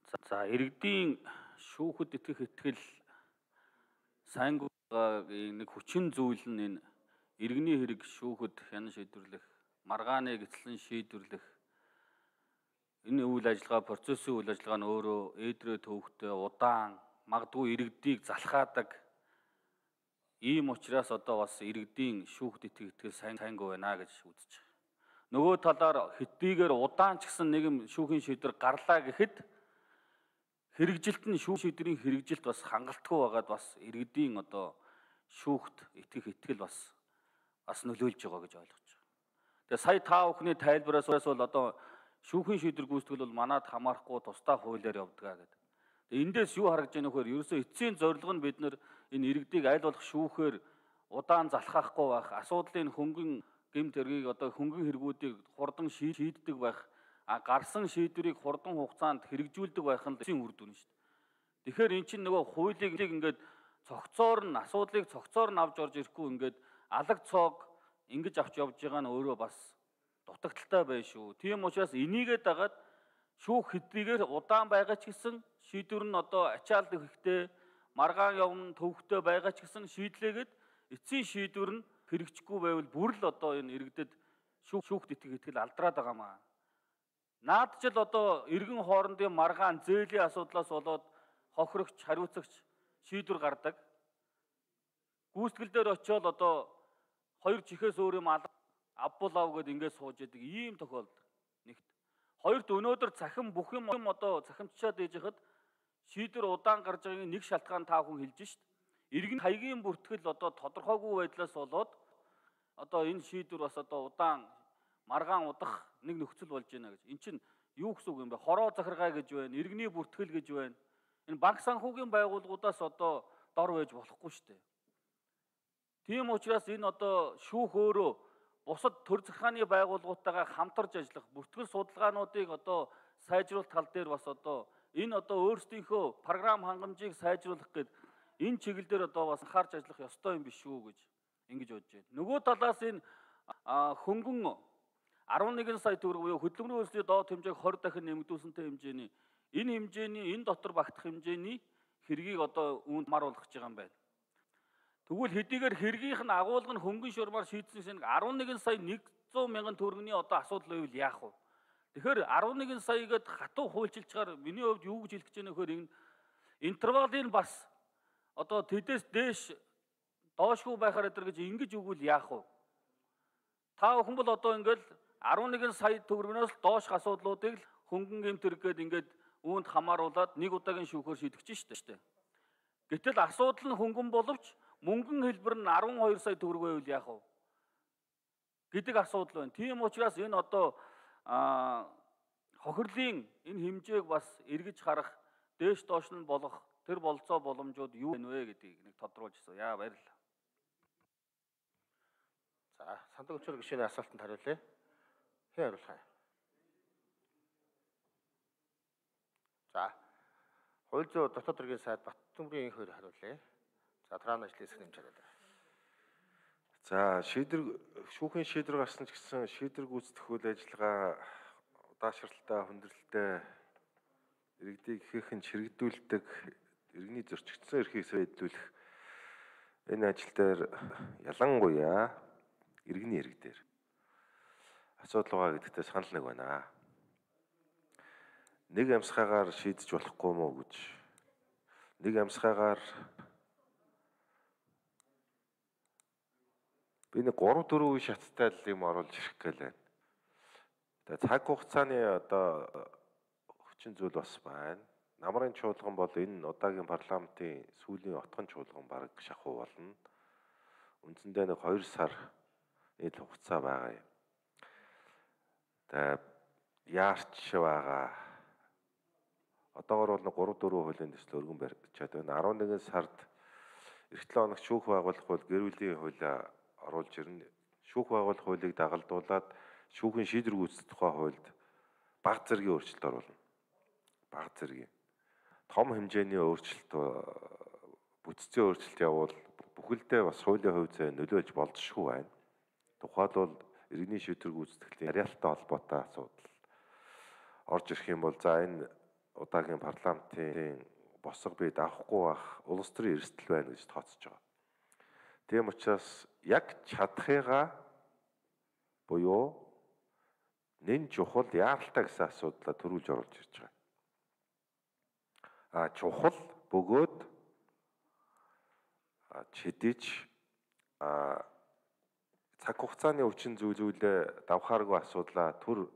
За иргэдийн шүүхэд итгэх итгэл сайнгуугийн нэг хүчин зүйл нь энэ иргэний хэрэг шүүхэд хянан шийдвэрлэх, маргааныг эцлэн шийдвэрлэх энэ үйл ажиллагаа, процессын үйл ажиллагаа нь өөрөө ээдрээ төвөгтэй удаан, магадгүй иргэдийг залхаадаг. Ийм учраас одоо бас иргэдийн шүүхэд итгэх итгэл сайнгүй байна гэж үзэж байгаа. Нөгөө талаар хэдийгээр удаан ч гэсэн нэгэн шүүхийн шийдвэр гарлаа гэхэд хэрэгжилт нь шүүх шийдвэрийн хэрэгжилт бас хангалтгүй байгаад бас иргэдийн одоо шүүхт итгэх итгэл бас нөлөөлж байгаа гэж ойлгож байгаа. Тэгээ сая та бүхний тайлбараас бол одоо шүүхийн шийдвэр гүйцэтгэл бол манад хамаарахгүй тусдаа хуулиар явдгаа гэдэг. Тэгээ эндээс юу харагдж байна вэ гэхээр ерөөсөө эцсийн зорилго нь бид нэр энэ иргэдийг аль болох шүүхээр удаан залхаахгүй байх, асуудлын хөнгөн гэмт хэргийг одоо хөнгөн хэрэгүүдийг хурдан шийддэг байх, гарсан шийдвэрийг хурдан хугацаанд хэрэгжүүлдэг байх нь эцсийн үр дүн шүү дээ. Тэгэхээр эн чинь нөгөө хуулийг ингээд цогцоор нь асуудлыг цогцоор нь авч орж ирэхгүй ингээд алаг цоог ингэж авч явж байгаа нь өөрөө бас дутагдaltaй байна шүү. Тийм учраас энийгээ дагаад шүүх хэдийгээр удаан байгаа ч гэсэн шийдвэр нь одоо ачаалт хэрэгтэй, маргаан явна төвхтэй байгаа ч гэсэн шийдлээгээд эцсийн шийдвэр нь хэрэгжихгүй байвал бүр л одоо энэ иргэдэд шүүхт итгэл алдраад байгаамаа. Наад жил одоо иргэн хоорондын маргаан зээлийн асуудлаас болоод хохирогч, хариуцагч шийдвэр гардаг. Гүйцэтгэл дээр очиод одоо хоёр чихээс өөр юм авбул ав гэдээ ингээд сууж яадаг ийм тохиолдол нэгт. Хоёрт өнөөдөр цахим бүх юм одоо цахимчаад ээж хахад шийдвэр удаан гарч байгаагийн нэг шалтгаан та хүн хэлж шít. Иргэн хаягийн бүртгэл одоо тодорхойгүй байдлаас болоод одоо энэ шийдвэр бас одоо удаан маргаан удах нэг нөхцөл болж байна гэж. Эн чинь юу гэсэн үг юм бэ? Хороо захиргаа гэж байна, иргэний бүртгэл гэж байна. Энэ банк санхүүгийн байгууллагуудаас одоо дор байж болохгүй шүү дээ. Тийм учраас энэ одоо шүүх өөрөө бусад төр захиргааны байгууллагуудтайгаа хамтарч ажиллах, бүртгэл судалгаануудыг одоо сайжруулах тал дээр бас одоо энэ одоо өөрсдийнхөө програм хангамжийг сайжруулах гээд энэ чиглэлээр одоо бас анхаарч ажиллах ёстой юм биш шүү гэж ингэж бодож байна. Нөгөө талаас энэ хөнгөн 11 сая төгрөг буюу хөдөлмөрийн хөлсний доод хэмжээг 20 дахин нэмэгдүүлсэнтэй хэмжээний энэ дотор багтах хэмжээний хэргийг одоо үүнд маруулах гэж байгаа юм байна. Тэгвэл хэдийгээр хэргийнх нь агуулга нь хөнгөн шурмаар шийдсэн 11 сая 100 мянган төгрөгийн одоо асуудал байвал яах вэ? Тэгэхээр 11 сая гээд хатуу хуульчилчаар миний хувьд юу гэж хэлэх гэж байна вэхээр энэ интервалын бас одоо тэдээс дээш доошгүй байхаар өдр гэж ингэж өгвөл яах вэ? Та бүхэн бол одоо ингээл 11 сая төгрөгнөөс доош асуудлуудыг л хөнгөн гэмт хэрэг гээд ингээд үүнд хамааруулад нэг удаагийн шүүхөөр шийдэж штэ. Гэтэл асуудал нь хөнгөн боловч мөнгөн хэлбэр нь 12 сая төгрөг байвал яах вэ? Гэдэг асуудал байна. Тийм учраас энэ одоо хохирлын энэ хэмжээг бас эргэж харах, дээш доош нь болох тэр болцоо боломжууд юу вэ гэдгийг нэг тодруулж өгсөн. Яа баярлалаа. За, сандаг өчрө гишүүний асуултанд хариулъя. Хэн хариулах юм? За, хууль зүйн дотоод хэргийн сайд Баттөмрийн инх хоёр хариулъя. За, трааны ажлын хэсэг нэмж хараад. За, шүүхийн шийдвэр гарсан ч гэсэн шийдвэр гүйцэтгэх үйл ажиллагаа удаашралтай, хүндрэлтэй иргэдийг ихээхэн чирэгдүүлдэг, иргэний зөрчигдсөн эрхийг сайжруулах энэ ажил дээр ялангуяа иргэний хэрэг дээр асуудал байгаа гэдэгтээ санал нэг байна. Нэг амьсгаагаар шийдэж болохгүй мó гэж. Нэг амьсгаагаар би нэг 3-4 үе шаттай л юм оруулж ирэх гээл байна. Тэгээ цаг хугацааны одоо хүчин зүйл бас байна. Намрын чуулган бол энэ удаагийн парламентын сүүлийн отгон чуулган бараг шахуу болно. Үндсэндээ нэг 2 сар нийт хугацаа байгаа юм. Тэгээ яарч байгаа. Одоогор бол 3-4 хуулийн төсөл өргөн барьчаад байна. 11 сард эх 7 хоногт шүүх байгуулах хууль гэр бүлийн хуулиа оруулж ирнэ. Шүүх байгуулах хуулийг дагалдуулаад шүүхийн шийдвэр гүйцэтгэх тухай хуульд бага зэргийн өөрчлөлт оруулна. Бага зэргийн. Том хэмжээний өөрчлөлт бүтцийн өөрчлөлт явуул бүхэлдээ бас хуулийн хувь зай нөлөөлж болзошгүй байна. Тухайлбал иргэний шийдвэр гүйцэтгэлийн яриалтай холбоотой асуудал орж ирэх юм бол за энэ удаагийн парламентын босго бид авахгүй байх улс төрийн эрсдэл байна гэж тооцож байгаа. Тийм учраас яг чадахыгаа буюу нэн чухал яаралтай гэсэн асуудлаа төрүүлж оруулж ирж байгаа. Чухал бөгөөд чидэж цаг хугацааны хүчин зүйлээ давхааргүй асуудлаа төр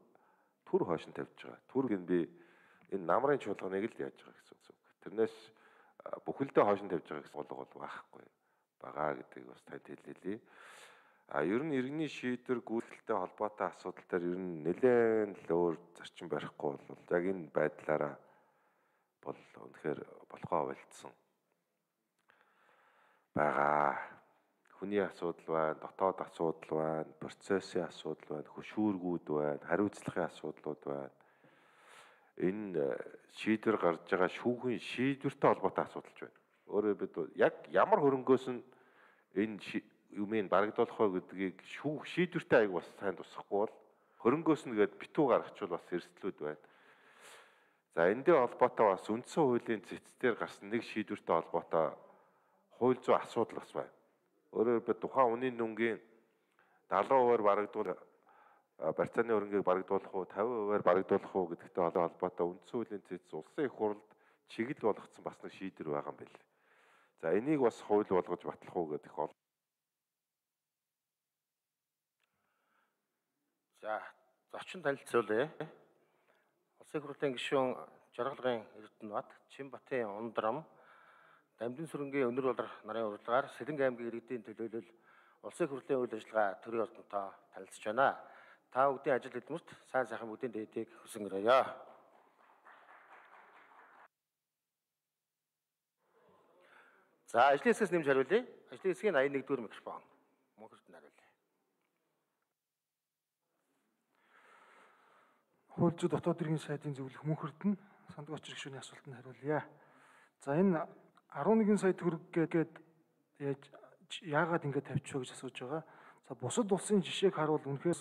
хойш нь тавьж байгаа. Түрг нь би энэ намрын чуулганыг л яаж байгаа гэсэн үг. Тэрнээс бүхэлдээ хойш нь тавьж байгаа гэсэн бол байхгүй байгаа гэдгийг бас танд хэллээ. Ер нь иргэний шийдвэр гүйцэтгэлтэй холбоотой асуудал дээр ер нь нэлээд л өөр зарчим барихгүй бол яг энэ байдлаараа бол үнэхээр болохоо болцсон байгаа. Хүний асуудал байна, дотоод асуудал байна, процессын асуудал байна, хөшүүргүүд байна, хариуцлагын асуудлууд байна. Энэ шийдвэр гарч байгаа шүүхийн шийдвэртэй холбоотой асуудалч байна. Өөрөөр бид яг ямар хөрөнгөөс нь энэ юмыг барагдуулах вэ гэдгийг шийдвэртэй аяг бас сайн тусахгүй бол хөрөнгөөс нь гээд битүү гаргачвал бас эрсдлүүд байна. За эндээ холбоотой бас үндсэн хуулийн цэцтээр гарсан нэг шийдвэртэй холбоотой хууль зүйн асуудал бас байна. Өөрөөр бид тухайн үнийн дүнгийн 70% барагдуул барьцааны хөрөнгийг барагдуулах уу 50% барагдуулах уу гэдэгтэй холбоотой үндсэн хуулийн цэц улсын их хурлд чиглэл болгоцсон бас нэг шийдвэр байгаа юм байна. За энийг бас хууль болгож батлах уу гэдэг бол. За зочин танилцуулъя. Улсын их хурлын гишүүн Жаргалгын Эрдэнэбат, Чинбатын Ундрам, Дамжин сүрэнгийн өнөр болор нарын урилгаар Сэлэнг аймгийн иргэдийн төлөөлөл улсын их хурлын үйл ажиллагаа төрийн ордонтой танилцж байна. Та бүгдийн ажил хөдөлмөрт сайн сайхан бүгдийн дээдийг хүсэн өрөөё. За ажлын хэсгээс нэмж хариулъя. Ажлын хэсгийн 81-р микрофон. Мөнхөрт нь хариулъя. Хууль зүйн дотоод иргэн сайдын зөвлөх Мөнхөрт нь Сандуг очир гишүүний асуултанд хариулъя. За энэ 11 сая төгрөг гээд яагаад ингэж тавьчих вэ гэж асууж байгаа. За бусад улсын жишээг харуул үнэхээр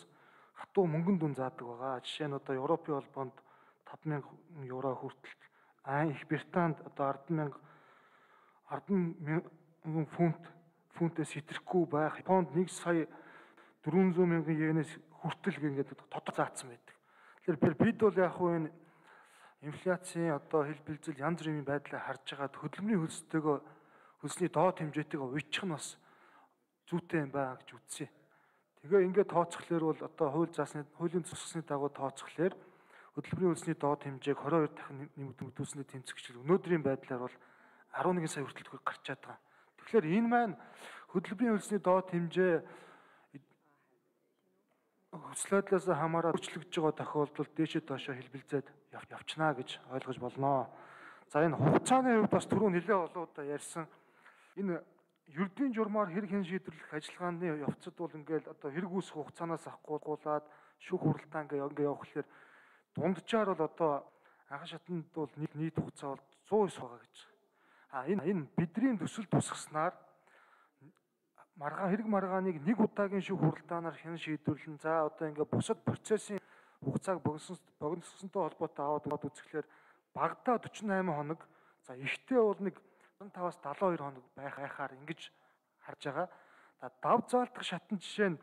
хатуу мөнгөн дүн заадаг байгаа. Жишээ нь одоо Европын холбоонд 5,000 евро хүртэл, Их Британд одоо 10,000 фунтээс хэтрэхгүй байх. Японд 1 сая 400 мянган йенээс хүртэл ингээд тодор заасан байдаг. Тэгэхээр бид бол яг хуу энэ инфляцийн одоо хил бэлзэл янз бүрийн байдлаа харж байгаад хөдөлмөрийн хөлсний доод хэмжээтэйгээ уйчих нь бас зүйтэй юм байна гэж үзсэн. Тэгээ ингээд тооцохлоор бол одоо хуулийн зохисны дагуу тооцохлоор хөдөлмөрийн хөлсний доод хэмжээг 22 дахин нэмэгдүүлснээр тэмцэгчл өнөөдрийн байдлаар бол 11 сая хүртэл төгрөг гарчаад байгаа. Тэгэхээр энэ маань хөдөлмөрийн хөлсний доод хэмжээ хөслөдлөөс хамааран өөрчлөгдөж байгаа тохиолдолд дээшээ доошоо хэлбэлзээд явчнаа гэж ойлгож болно. За энэ хугацааны хувьд бас түрүү нэлээд олон удаа ярьсан. Энэ ердийн журмаар хэрэг хэн шийдвэрлэх ажиллагааны явцад бол ингээл одоо хэрэг үүсэх хугацаанаас ахгүйгуулаад шүүх хуралдаан ингээ явахлаар дунджаар бол одоо анхан шатанд бол нийт хугацаа бол 109 байгаа гэж. Энэ бидний төсөл тусгаснаар хэрэг маргааныг нэг удаагийн шүүх хуралдаанаар хэн шийдвэрлэн за одоо ингээ бусад процессын хугацааг богиносонтой холбоотой аваад үзэхлээр багадаа 48 хоног, за ихтэй бол нэг 15-аас 72 хоног байхаар ингэж харж байгаа. Дав заалтах шатны жишээ нь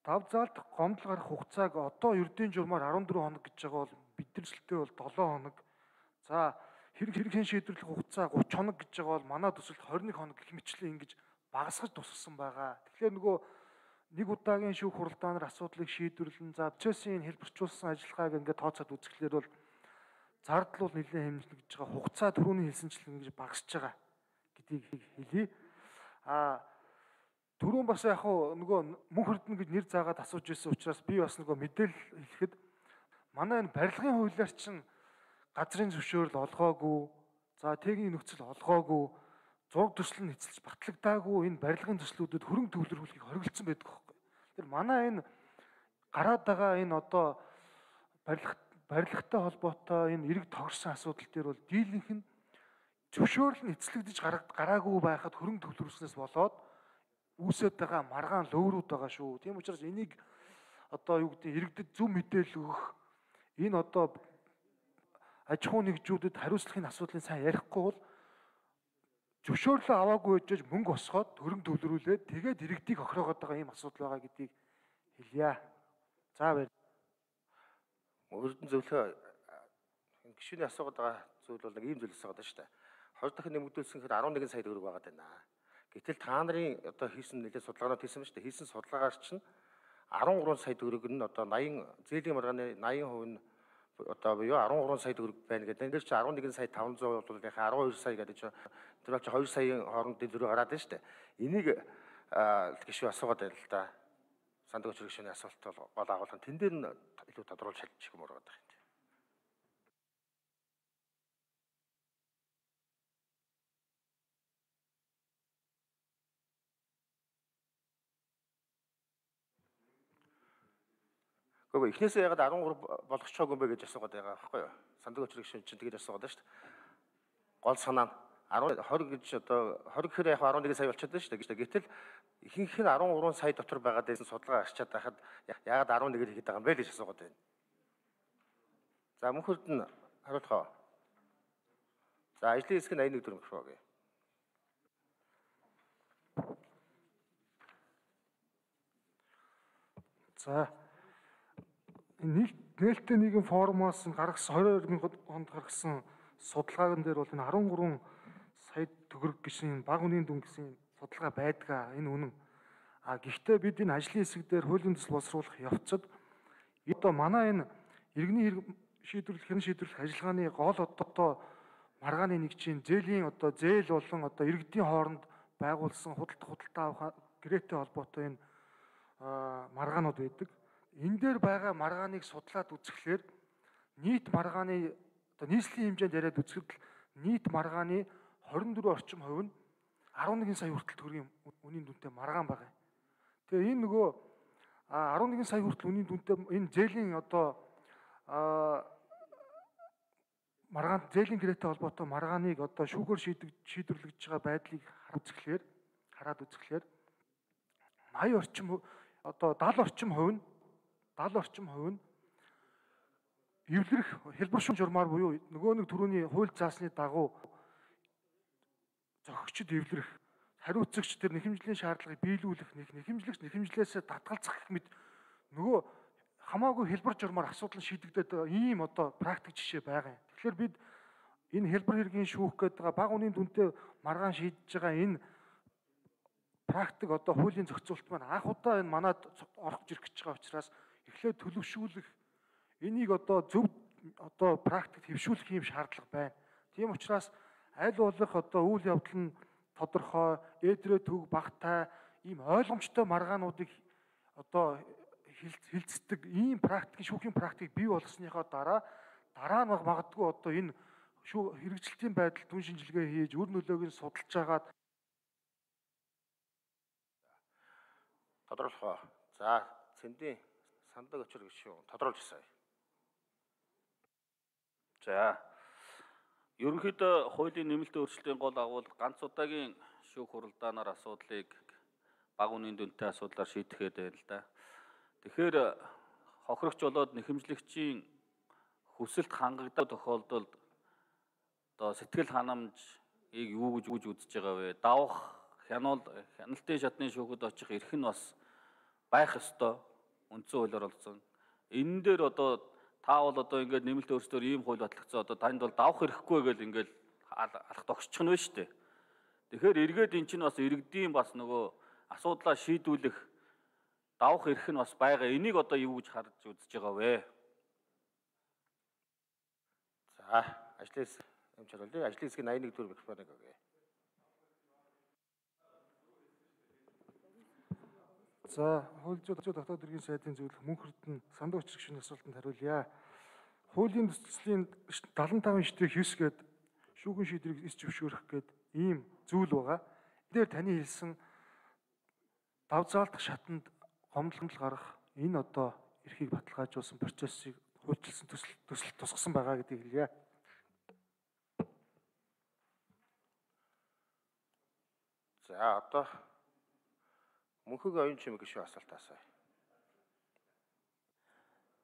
дав заалтах гомдол гарах хугацааг одоо ердийн журмаар 14 хоног гэж байгаа бол бидний төсөлтөө бол 7 хоног. За хэрэг хэн шийдвэрлэх хугацаа 30 хоног гэж байгаа бол манай төсөлд 21 хоног гэх мэтчлэн ингэж багасгаж тусгасан байгаа. Тэгэхээр нөгөө нэг удаагийн шүүх хуралдаанаар асуудлыг шийдвэрлэн за процессын хэлбэрчүүлсэн ажиллагааг ингээд тооцоод үзэхлээр бол зардал бол нэлээд хэмжлэг гэж байгаа. Хугацаа түрүүний хэлсэнчлэн ингэж багасж байгаа гэдгийг хэлье. Түрүүн бас яг нөгөө Мөнхөрдөн гэж нэр заагаад асууж ирсэн учраас би бас нөгөө мэдээлэл хэлэхэд манай энэ барилгын хуулиар чинь газрын зөвшөөрөл олгоогүй, за техникийн нөхцөл олгоогүй, зураг төсөл нь эцэлж батлагдаагүй энэ барилгын төслүүдэд хөрөнгө төвлөрүүлэхийг хориглосон байдаг байхгүй. Тэгэхээр манай энэ гараад байгаа энэ одоо барилгатай холбоотой энэ эрэг тогтсон асуудал дээр бол дийлэнх нь зөвшөөрөл нь эцэлэгдэж гараагүй байхад хөрөнгө төвлөрүүлснээс болоод үүсэт байгаа маргаан лөөрүүд байгаа шүү. Тийм учраас энийг одоо юу гэдэг иргэдэд зөв мэдээлэл өгөх энэ одоо аж ахуй нэгжүүдэд хариуцлагын асуудлыг сайн ярихгүй бол зөвшөөрлөө аваагүй байж мөнгө босгоод хөрөнгө төвлөрүүлээд тэгээд иргэдийг охироогоод байгаа ийм асуудал байгаа гэдгийг хэлье. За баяр. Өрдөн зөвлөө гишүүний асуугаад байгаа зүйл бол нэг ийм зүйлс байгаа даа шүү дээ. 20 дахин нэмэгдүүлсэн гэхээр 11 сая төгрөг байгаа даа. Гэтэл та нарын одоо хийсэн нэлээд судалгаанууд хийсэн ба шүү дээ. Хийсэн судалгаагаар чинь 13 сая төгрөг нь одоо 80 зээлийн маргааны 80% нь одоо буюу 13 сая төгрөг байна гэдэг. Энд чинь 11 сая 500 бол яхаа 12 сая гэдэг чинь тэр бол 2 саяын хооронд дэлгэрүү гараад байна шүү дээ. Энийг гишүү асуугаад байна л да. Сандаг очир гишүүний асуулт бол гол агуулга тэн дээр нь илүү тодруулж хэлчих юм уу гэдэг юм. Гэхдээ эхнээсээ ягаад 13 болгочихоогүй юм бэ гэж асуугаад байгаа байхгүй юу? Сандаг очир гишүүн чинь тэгэж асуугаад байна шүү дээ. Гол санаа нь 20 гэж одоо 20 гэхээр яг 11 сая болчиход байна шүү дээ. Гэтэл ихэнх нь 13 сая дотор байгаад байсан судалгаа арчаад байхад ягаад 11-ээр хийгээд байгаа юм бэ гэж асуугаад байна. За мөнхөрд нь хариулах уу? За ажлын хэсэг нь 81 төгрөг өгье. За нээлттэй нийгэм форумоос гаргасан 2020 онд гаргасан судалгаагийн дээр бол энэ 13 сая төгрөг гэсэн бага үнийн дүн гэсэн судалгаа байдгаа. Энэ үнэн. Гэхдээ бид энэ ажлын хэсэг дээр хуулийн төсөл боловсруулах явцад одоо манай энэ иргэний хэрэг шийдвэрлэх хэн шийдвэрлэх ажиллагааны гол одоо маргааны нэгжийн зээлийн одоо зээл болон одоо иргэдийн хооронд байгуулсан худалдаа авах гэрээтэй холбоотой энэ маргаанууд байдаг. Энэ дээр байгаа маргааныг судлаад үзэхлээр нийт маргааны одоо нийслэлийн хэмжээнд яриад үзэхэд нийт маргааны 24 орчим хувь нь 11 сая хүртэл төгрөгийн үнийн дүнтэй маргаан байгаа. Тэгээ энэ нөгөө 11 сая хүртэл үнийн дүнтэй энэ зээлийн одоо маргаан зээлийн гэрээтэй холбоотой маргааныг одоо шүүгээр шийдвэрлэж байгаа байдлыг хараад үзэхлээр 80 орчим одоо 70 орчим хувь нь эвлэрэх хэлбэр шүүн журмаар буюу нөгөө нэг түрүүний хууль заасны дагуу зохигчд эвлэрэх хариуцагч тэр нэхэмжлийн шаардлагыг биелүүлэх нэхэмжлээсээ татгалзах гэх мэт нөгөө хамаагүй хэлбэр журмаар асуудал шийдэгдээд байгаа ийм одоо практик жишээ байгаа юм. Тэгэхээр бид энэ хэлбэр хэргийн шүүх гэдэг байгаа бага үнийн дүнтэй маргаан шийдэж байгаа энэ практик одоо хуулийн зохицуулалт маань анх удаа энэ манад орох ирэх гэж байгаа учраас эхлээд төлөвшүүлэх энийг одоо зөв одоо практикт хэвшүүлэх юм шаардлага байна. Тийм учраас аль болох одоо үйл явдал нь тодорхой, ээдрээ төг багтай ийм ойлгомжтой маргаануудыг одоо хилцдэг ийм практик шүүхийн практик бий болсныхоо дараа нь магадгүй одоо энэ хэрэгжилтийн байдал түн шинжилгээ хийж үр нөлөөг нь судалж агаад тодруулах уу. За цэндийн сандаг очир гişүү тодруулж ирсэн. За ерөнхийдөө хуулийн нэмэлтийн өөрчлөлтийн гол агуулга ганц удаагийн шүүх хуралдаанаар асуудлыг бага үнийн дүнтэй асуудлаар шийдэхэд байна л да. Тэгэхээр хохирогч болоод нэхэмжлэгчийн хүсэлт хангагдах тохиолдолд одоо сэтгэл ханамжийг юу гэж үзэж байгаа вэ? Давах, хяналтын шатны шүүхэд очих эрх нь бас байх ёстой. Үндсэн хуулиар олсон. Энэ дээр одоо та бол одоо ингээд нэмэлт өөрчлөлтөөр ийм хууль батлагдсан одоо танд бол давах эрхгүй гэж ингээд алах тогсчих нь байна шүү дээ. Тэгэхээр эргээд эн чинь бас иргэдийн бас нөгөө асуудлаа шийдвүлэх давах эрх нь бас байгаа. Энийг одоо юу гэж харж үзэж байгаа вэ? За ажлын хэсэг амжилттай. Ажлын хэсгийн 81 төгрөг экспонент өгье. За хууль зүйн дотоод хэргийн сайдын зөвлөх мөнхөрд нь сандаг очир гишүүний асуултанд хариулъя. Хуулийн төслийн 75/9 гээд шүүхийн шийдвэрийг эс зөвшөөрөх гээд ийм зүйл байгаа. Энд дээр таны хэлсэн давзаалтах шатанд гомдол гарах энэ одоо эрхийг баталгаажуулсан процессыг хуульчилсан төсөл тусгасан байгаа гэдгийг хэлье. За одоо мөнхөг оюун чимэг гишүүн асуулт асууя.